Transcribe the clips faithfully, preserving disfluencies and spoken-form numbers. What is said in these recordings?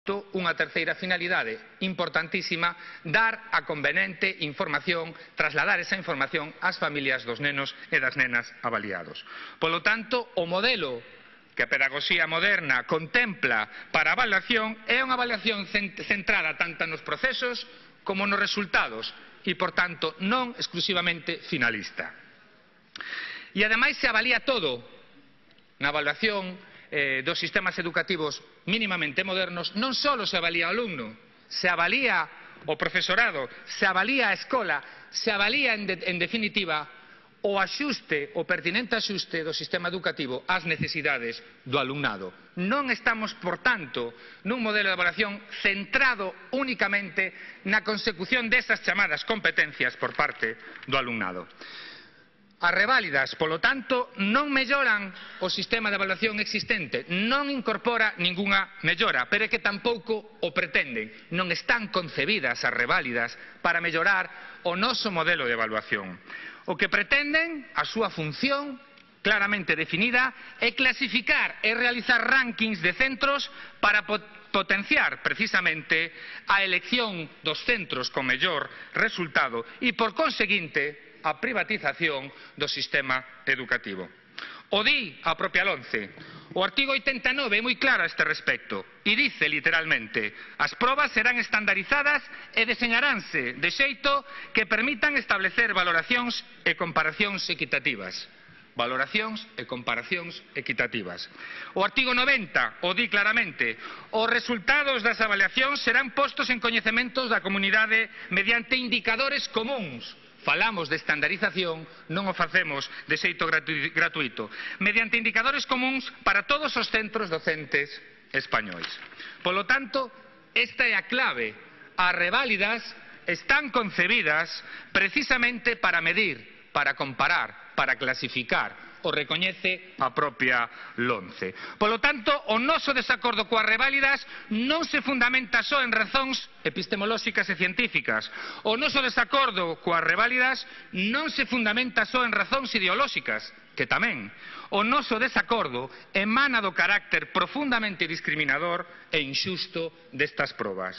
unha terceira finalidade importantísima, dar a convenente información, trasladar esa información ás familias dos nenos e das nenas avaliados. Polo tanto, o modelo que a pedagogía moderna contempla para a avaliación é unha avaliación centrada tanto nos procesos como nos resultados e, por tanto, non exclusivamente finalista. E, ademais, se avalía todo na avaliación Eh, dos sistemas educativos mínimamente modernos. Non só se avalía o alumno, se avalía o profesorado, se avalía a escola, se avalía en, de, en definitiva o axuste, o pertinente axuste do sistema educativo ás necesidades do alumnado. Non estamos, por tanto, nun modelo de evaluación centrado únicamente na consecución desas chamadas competencias por parte do alumnado. As reválidas, polo tanto, non melloran o sistema de evaluación existente, non incorpora ningunha mellora, pero é que tampouco o pretenden. Non están concebidas as reválidas para mellorar o noso modelo de evaluación. O que pretenden, a súa función claramente definida, é clasificar e realizar rankings de centros para potenciar precisamente a elección dos centros con mellor resultado e, por conseguinte, a privatización do sistema educativo. O di a propia LOMCE. O artigo oitenta e nove é moi claro a este respecto e dice literalmente: as probas serán estandarizadas e deseñaránse de xeito que permitan establecer valoracións e comparacións equitativas. Valoracións e comparacións equitativas. O artigo noventa o di claramente: os resultados das avaliacións serán postos en coñecementos da comunidade mediante indicadores comúns. Falamos de estandarización, non o facemos de xeito gratuito, mediante indicadores comúns para todos os centros docentes españois. Polo tanto, esta é a clave. As reválidas están concebidas precisamente para medir, para comparar, para clasificar. O recoñece a propia LOMCE. Polo tanto, o noso desacordo coas reválidas non se fundamenta só en razóns epistemolóxicas e científicas. O noso desacordo coas reválidas non se fundamenta só en razóns ideolóxicas, que tamén. O noso desacordo emana do carácter profundamente discriminador e inxusto destas probas.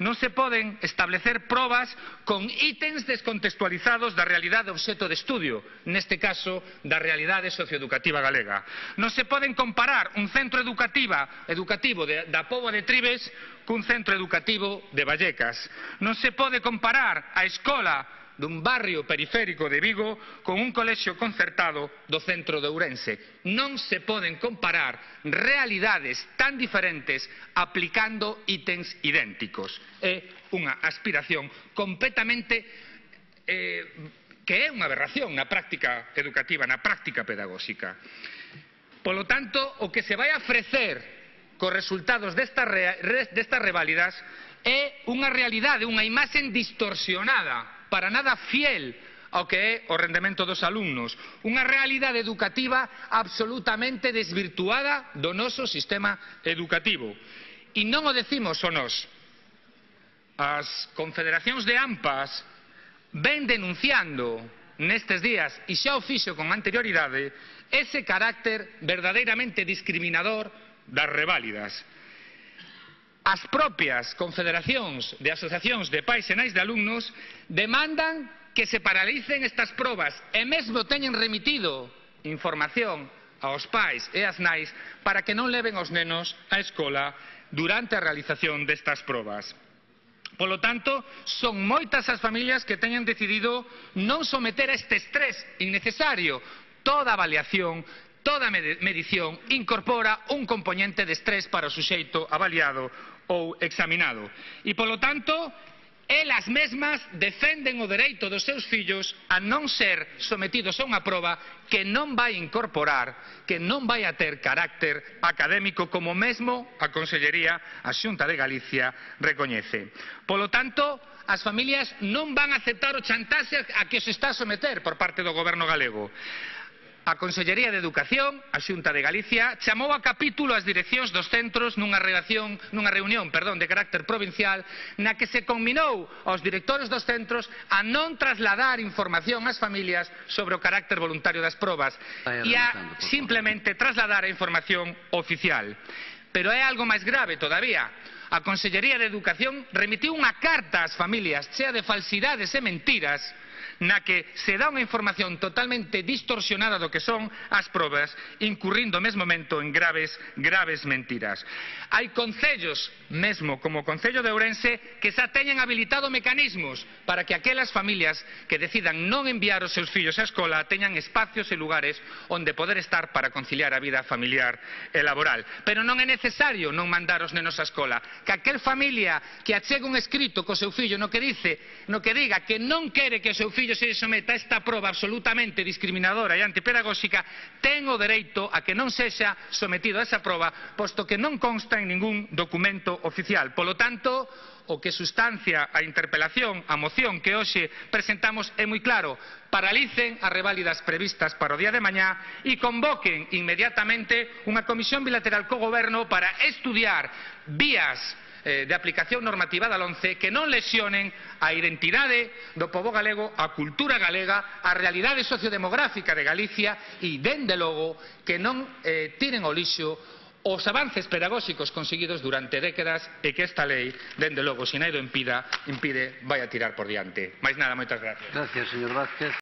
Non se poden establecer probas con ítems descontextualizados da realidade obxecto de estudio, neste caso da realidade socioeducativa galega. Non se poden comparar un centro educativa, educativo de, da Póvoa de Trives cun centro educativo de Vallecas. Non se pode comparar a escola dun barrio periférico de Vigo con un colexio concertado do centro de Ourense. Non se poden comparar realidades tan diferentes aplicando ítems idénticos. É unha aspiración completamente eh, que é unha aberración na práctica educativa, na práctica pedagóxica. Polo tanto, o que se vai a ofrecer cos resultados destas, re, destas reválidas é unha realidade, unha imaxe distorsionada, para nada fiel ao que é o rendemento dos alumnos, unha realidade educativa absolutamente desvirtuada do noso sistema educativo. E non o decimos só nós. As confederacións de AMPAs ven denunciando nestes días, e xa o fixo con anterioridade, ese carácter verdadeiramente discriminador das reválidas. As propias confederacións de asociacións de pais e nais de alumnos demandan que se paralicen estas probas e mesmo teñen remitido información aos pais e ás nais para que non leven os nenos á escola durante a realización destas probas. Polo tanto, son moitas as familias que teñen decidido non someter a este estrés innecesario. Toda avaliación, toda medición incorpora un componente de estrés para o suxeito avaliado ou examinado. E, polo tanto, elas mesmas defenden o dereito dos seus fillos a non ser sometidos a unha proba que non vai incorporar, que non vai a ter carácter académico, como mesmo a Consellería, a Xunta de Galicia, recoñece. Polo tanto, as familias non van a aceptar o chantaxe a que se está a someter por parte do Goberno galego. A Consellería de Educación, a Xunta de Galicia, chamou a capítulo as direccións dos centros nunha, relación, nunha reunión perdón, de carácter provincial na que se combinou aos directores dos centros a non trasladar información ás familias sobre o carácter voluntario das probas e a simplemente trasladar a información oficial. Pero é algo máis grave todavía. A Consellería de Educación remitiu unha carta ás familias chea de falsidades e mentiras na que se dá unha información totalmente distorsionada do que son as probas, incurrindo mesmo momento en graves, graves mentiras. Hai concellos, mesmo como o Concello de Ourense, que xa teñen habilitado mecanismos para que aquelas familias que decidan non enviar os seus fillos á escola teñan espacios e lugares onde poder estar para conciliar a vida familiar e laboral. Pero non é necesario non mandar os nenos á escola. Que aquel familia que achegue un escrito co seu fillo no que dice, no que diga que non quere que o seu fillo se someta a esta proba absolutamente discriminadora e antipedagóxica, ten o dereito a que non sexa sometido a esa proba, posto que non consta en ningún documento oficial. Polo tanto, o que sustancia a interpelación, a moción que hoxe presentamos é moi claro: paralicen as reválidas previstas para o día de mañá e convoquen inmediatamente unha comisión bilateral co Goberno para estudiar vías de aplicación normativa da LOMCE que non lesionen a identidade do pobo galego, a cultura galega, a realidade sociodemográfica de Galicia e, dende logo, que non eh, tiren ao lixo os avances pedagóxicos conseguidos durante décadas e que esta lei, dende logo, se nada impida, impide, vai a tirar por diante. Mais nada, moitas gracias. Gracias, señor Vázquez.